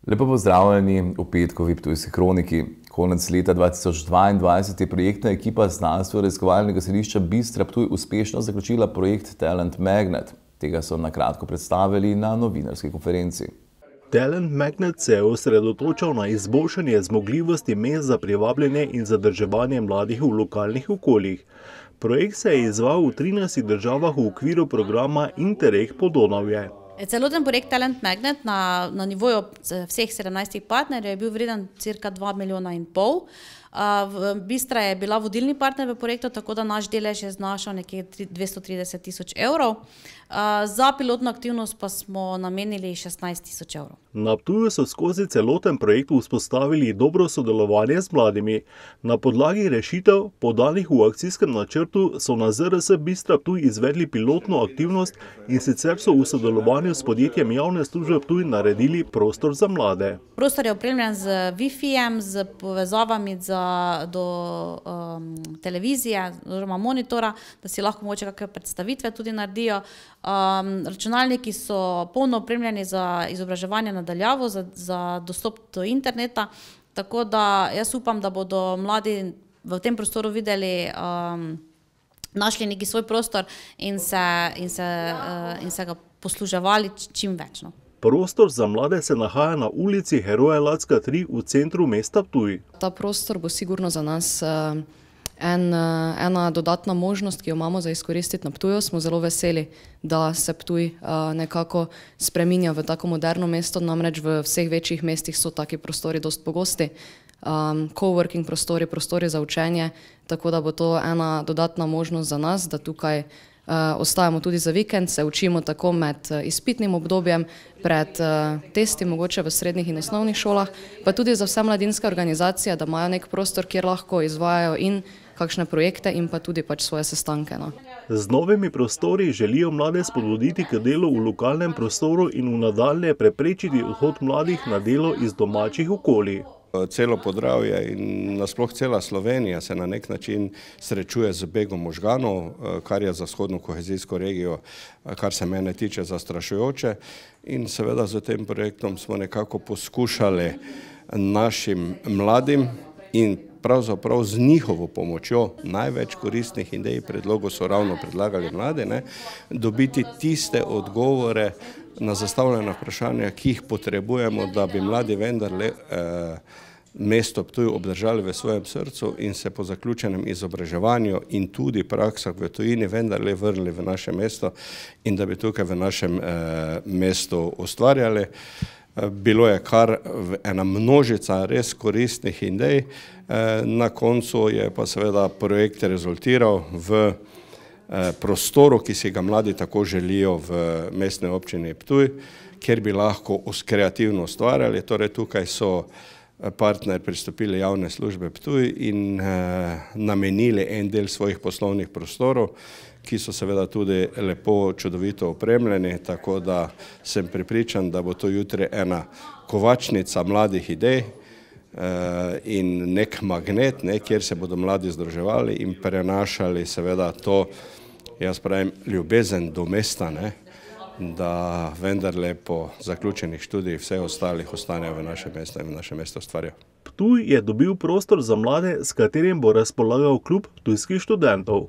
Lepo pozdravljeni v petkovi Ptujski kroniki. Konec leta 2022 je projektna ekipa Znanstveno-raziskovalnega središča Bistra Ptuj uspešno zaključila projekt Talent Magnet. Tega so na kratko predstavili na novinarski konferenci. Talent Magnet se je osredotočal na izboljšanje zmogljivosti mest za privabljanje in zadrževanje mladih v lokalnih okoljih. Projekt se je izvajal v 13 državah v okviru programa Interreg Podonavje. Celoten projekt Talent Magnet na nivoju vseh 17 partnerjev je bil vreden cirka 2,5 milijona. Bistra je bila vodilni partner v projektu, tako da naš delež je znašal nekje 230 tisoč evrov. Za pilotno aktivnost pa smo namenili 16 tisoč evrov. Na Ptuju so skozi celoten projekt vzpostavili dobro sodelovanje z mladimi. Na podlagi rešitev, podanih v akcijskem načrtu, so na ZRS Bistra Ptuj izvedli pilotno aktivnost in sicer so v sodelovanju s podjetjem Javne službe Ptuj naredili prostor za mlade. Prostor je opremljen z Wi-Fijem, z povezavami do televizije oziroma monitora, da si lahko mogoče kakšne predstavitve tudi naredijo. Računalniki so polno opremljeni za izobraževanje na daljavo, za dostop do interneta, tako da jaz upam, da bodo mladi v tem prostoru videli, našli neki svoj prostor in se ga posluževali čim več. Prostor za mlade se nahaja na ulici Heroja Lacka 3 v centru mesta Ptuj. Ta prostor bo sigurno za nas ena dodatna možnost, ki jo imamo za izkoristiti na Ptuju. Smo zelo veseli, da se Ptuj nekako spreminja v tako moderno mesto, namreč v vseh večjih mestih so taki prostori dosti pogosti. Coworking prostori, prostori za učenje, tako da bo to ena dodatna možnost za nas, da tukaj ostajamo tudi za vikend, se učimo tako med izpitnim obdobjem, pred testi, mogoče v srednjih in osnovnih šolah, pa tudi za vse mladinske organizacije, da imajo nek prostor, kjer lahko izvajajo in kakšne projekte in pa tudi svoje sestanke. Z novimi prostori želijo mlade spodbuditi k delu v lokalnem prostoru in v nadaljnje preprečiti odhod mladih na delo iz domačih okolij. Celo Podravje in nasploh cela Slovenija se na nek način srečuje z begom možganov, kar je za vzhodno kohezijsko regijo, kar se mene tiče, zastrašujoče. In seveda z tem projektom smo nekako poskušali našim mladim in pravzaprav z njihovo pomočjo, največ koristnih idej, predlogov so ravno predlagali mlade, dobiti tiste odgovore na zastavljena vprašanja, ki jih potrebujemo, da bi mladi vendarle mesto Ptuj obdržali v svojem srcu in se po zaključenem izobraževanju in tudi praksah v tujini vendarle vrnili v naše mesto in da bi tukaj v našem mestu ustvarjali. Bilo je kar ena množica res koristnih idej, na koncu je pa seveda projekt rezultiral v prostoru, ki si ga mladi tako želijo v mestni občini Ptuj, kjer bi lahko kreativno ustvarjali. Torej tukaj so partner pristopili Javne službe Ptuj in namenili en del svojih poslovnih prostorov, ki so seveda tudi lepo, čudovito opremljeni, tako da sem prepričan, da bo to jutri ena kovačnica mladih idej in nek magnet, kjer se bodo mladi združevali in prenašali seveda to, jaz pravim, ljubezen do mesta, da vendarle po zaključenih študijih vse ostalih ostanejo v našem mestu in v našem mestu ustvarjajo. Ptuj je dobil prostor za mlade, s katerim bo razpolagal klub ptujskih študentov.